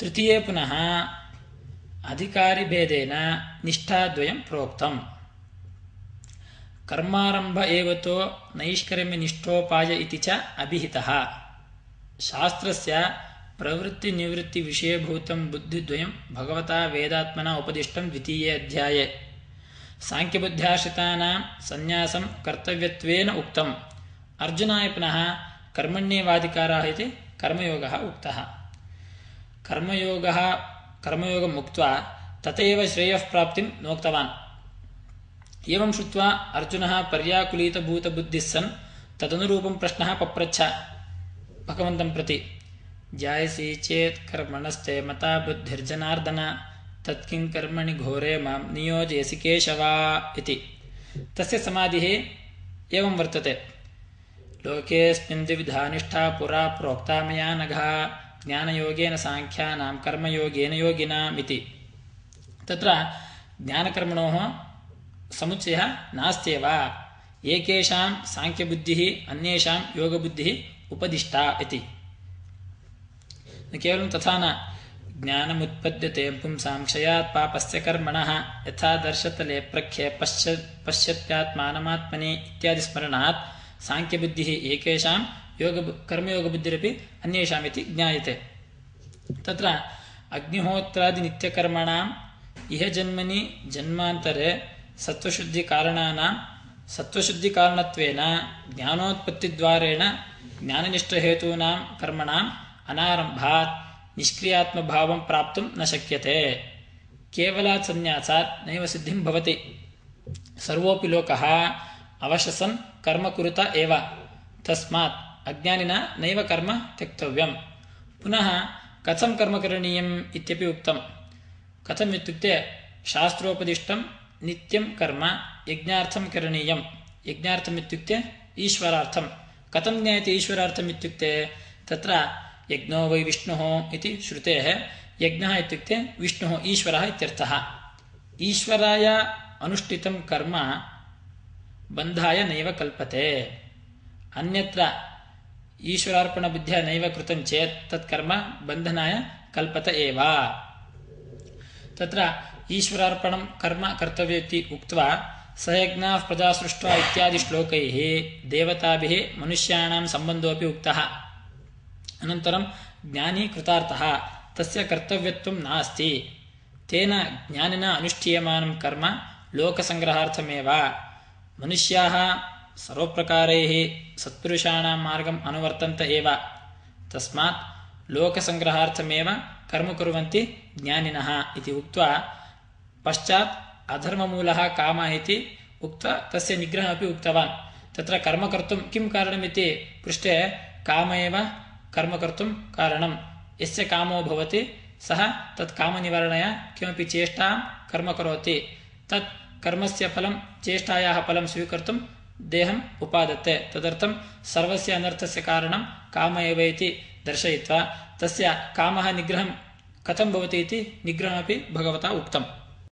तृतीये पुनः अधिकारिभेदेन निष्ठाद्वयं प्रोक्तम्। कर्मारम्भ एव तो नैष्कर्म्यनिष्ठोपाय इति च अभिहितः। शास्त्रस्य प्रवृत्तिनिवृत्तिविषयभूतं बुद्धिद्वयं भगवता वेदात्मना उपदिष्टं द्वितीये अध्याये। सांख्यबुद्ध्याश्रितानां संन्यासं कर्तव्यत्वेन उक्तम्। अर्जुनाय पुनः कर्मण्येवाधिकारः इति कर्मयोगः उक्तः। कर्मयोगम् उक्त्वा तथैव श्रेयः प्राप्तिं नोक्तवान्। एवं श्रुत्वा अर्जुनः पर्याकुलीतभूतबुद्धिः सन् तदनुरूपं प्रश्नः पप्रच्छ भगवन्तं प्रति। जायसि चेत् कर्मणस्ते मता बुद्धिर्जनार्दन, तत्किं कर्मणि घोरे मां नियोजयसि केशव इति। तस्य समाधिः एवं वर्तते। लोकेऽस्मिन् द्विविधा निष्ठा पुरा प्रोक्ता मया नघ, ज्ञानयोगेन सांख्यानां कर्मयोगेन योगिनाम् इति। तत्र ज्ञानकर्मणोः समुच्चयः नास्त्येव। एकेषां सांख्यबुद्धिः अन्येषां योगबुद्धिः उपदिष्टा इति। केवलं तथा न। ज्ञानमुत्पद्यते पुंसां क्षयात् पापस्य कर्मणः, यथा दर्शतले प्रख्ये पश्यत्यात्मानमात्मनि इत्यादि स्मरणात् सांख्यबुद्धिः एकेषां कर्मयोगबुद्धिरपि अन्येषाम् इति ज्ञायते। तत्र अग्निहोत्रादिनित्यकर्मणाम् इह जन्मनि जन्मान्तरे सत्त्वशुद्धिकारणत्वेन ज्ञानोत्पत्तिद्वारेण ज्ञाननिष्ठहेतूनां कर्मणाम् अनारम्भात् निष्क्रियात्मभावं प्राप्तुं न शक्यते। केवलात् संन्यासात् नैव सिद्धिं भवति। सर्वोऽपि लोकः अवशसन् कर्म कुरुत एव। तस्मात् अज्ञानिना नैव कर्म त्यक्तव्यम्। पुनः कथं कर्म करणीयम् इत्यपि उक्तम्। कथम् इत्युक्ते शास्त्रोपदिष्टं नित्यं कर्म यज्ञार्थं करणीयम्। यज्ञार्थम् इत्युक्ते ईश्वरार्थं। कथं ज्ञायते ईश्वरार्थम् इत्युक्ते तत्र यज्ञो वै विष्णुः इति श्रुतेः। यज्ञः इत्युक्ते विष्णुः ईश्वरः इत्यर्थः। ईश्वराय अनुष्ठितं कर्म बन्धाय नैव कल्पते। अन्यत्र ईश्वरार्पणबुद्ध्या नैव कृतं चेत् तत्कर्म बन्धनाय कल्पत एव। तत्र ईश्वरार्पणं कर्म कर्तव्यमिति उक्त्वा सयज्ञाः प्रजा सृष्ट्वा इत्यादि श्लोकैः देवताभिः मनुष्याणां सम्बन्धोऽपि उक्तः। अनन्तरं ज्ञानी कृतार्थः, तस्य कर्तव्यत्वं नास्ति। तेन ज्ञानिना अनुष्ठीयमानं कर्म लोकसङ्ग्रहार्थमेव। मनुष्याः सर्वप्रकारैः सत्पुरुषाणां मार्गम् अनुवर्तन्त एव। तस्मात् लोकसङ्ग्रहार्थमेव कर्म कुर्वन्ति ज्ञानिनः इति उक्त्वा पश्चात् अधर्ममूलः कामः इति उक्त्वा तस्य निग्रहमपि उक्तवान्। तत्र कर्म कर्तुं किं कारणमिति पृष्टे काम एव कर्म कर्तुं कारणं। यस्य कामो भवति सः तत् कामनिवारणाय किमपि चेष्टां कर्म करोति। तत् कर्मस्य फलं चेष्टायाः फलं स्वीकर्तुं देहम् उपादत्ते। तदर्थं सर्वस्य अनर्थस्य कारणं काम एव इति दर्शयित्वा तस्य कामः निग्रहं कथं भवति इति निग्रहमपि भगवता उक्तम्।